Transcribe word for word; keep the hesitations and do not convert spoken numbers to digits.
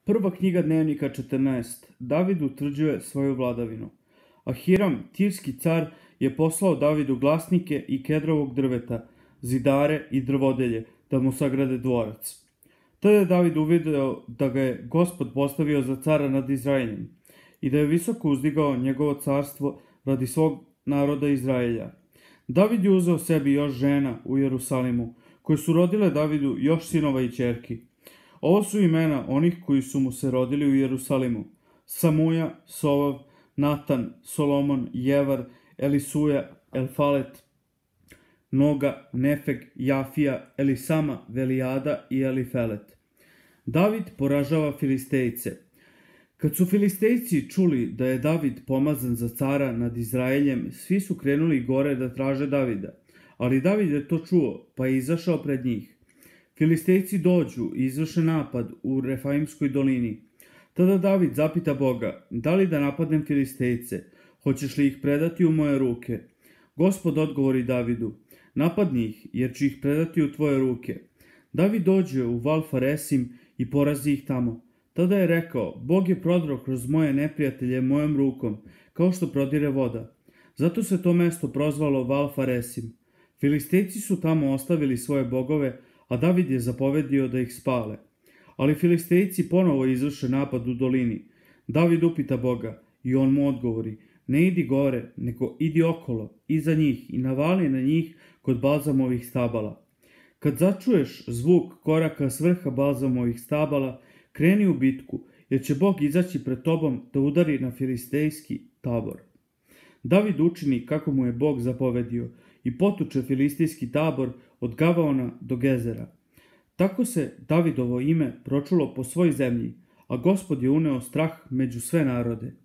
Prva knjiga Dnevnika četrnaest. David utvrđuje svoju vladavinu. A Hiram, tirski car, je poslao Davidu glasnike i kedrovog drveta, zidare i drvodelje, da mu sagrade dvorac. Tada je David uvideo da ga je Gospod postavio za cara nad Izraeljem i da je visoko uzdigao njegovo carstvo radi svog naroda Izraelja. David je uzeo sebi još žena u Jerusalimu, koje su rodile Davidu još sinova i ćerki. Ovo su imena onih koji su mu se rodili u Jerusalimu: Samuja, Sovav, Natan, Solomon, Jevar, Elisuja, Elfalet, Noga, Nefeg, Jafija, Elisama, Velijada i Elifelet. David poražava Filistejce. Kad su Filistejci čuli da je David pomazan za cara nad Izraeljem, svi su krenuli gore da traže Davida, ali David je to čuo, pa je izašao pred njih. Filistejci dođu i izvrše napad u Refaimskoj dolini. Tada David zapita Boga: da li da napadnem Filistejce? Hoćeš li ih predati u moje ruke? Gospod odgovori Davidu: napadni ih, jer ću ih predati u tvoje ruke. David dođe u Val Faresim i porazi ih tamo. Tada je rekao: Bog je prodro kroz moje neprijatelje mojom rukom, kao što prodire voda. Zato se to mesto prozvalo Val Faresim. Filistejci su tamo ostavili svoje bogove, a David je zapovedio da ih spale. Ali Filistejci ponovo izvrše napad u dolini. David upita Boga i on mu odgovori: ne idi gore, nego idi okolo, iza njih, i navali na njih kod balzamovih stabala. Kad začuješ zvuk koraka s vrha balzamovih stabala, kreni u bitku, jer će Bog izaći pred tobom da udari na filistejski tabor. David učini kako mu je Bog zapovedio i potuče filistejski tabor od Gavaona do Gezera. Tako se Davidovo ime pročulo po svoj zemlji, a Gospod je uneo strah među sve narode.